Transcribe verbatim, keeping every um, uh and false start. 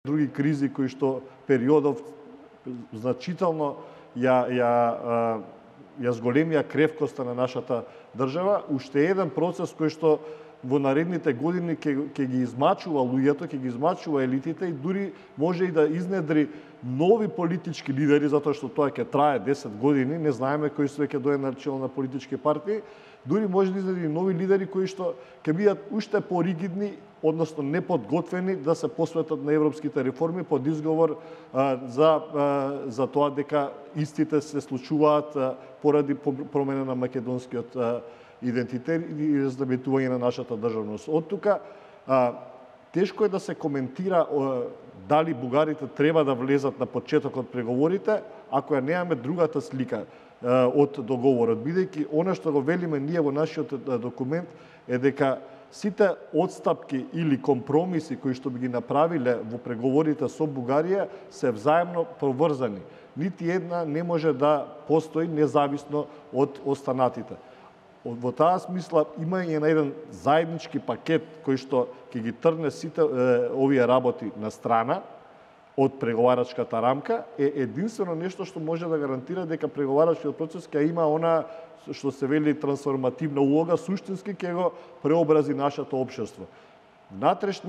други кризи кои што периодов значително ја ја ја зголемија кревкоста на нашата држава, уште еден процес кој што во наредните години ќе ќе ги измачува луѓето, ќе ги измачува елитите и дури може и да изнедри нови политички лидери, затоа што тоа ќе трае десет години, не знаеме кои се ќе дојде на чело на политички партии, дури може да изнедри нови лидери кои што ќе бидат уште поригидни, односно неподготвени да се посветат на европските реформи под изговор а, за а, за тоа дека истите се случуваат а, поради промена на македонскиот а, идентитет и разлебетување на нашата државност. Од тука а, тешко е да се коментира а, дали бугарите треба да влезат на почетокот преговорите, ако ја немаме другата слика а, од договорот, бидејќи она што го велиме ние во нашиот документ е дека сите отстапки или компромиси кои што би ги направиле во преговорите со Бугарија се взаемно поврзани. Нити една не може да постои независно од останатите. Во таа смисла имање на еден заеднички пакет кој што ќе ги трне сите е, овие работи на страна од преговарачката рамка е единствено нешто што може да гарантира дека преговарачкиот процес ќе има она што се вели трансформативна улога, суштински ќе го преобрази нашето општество. Внатрешни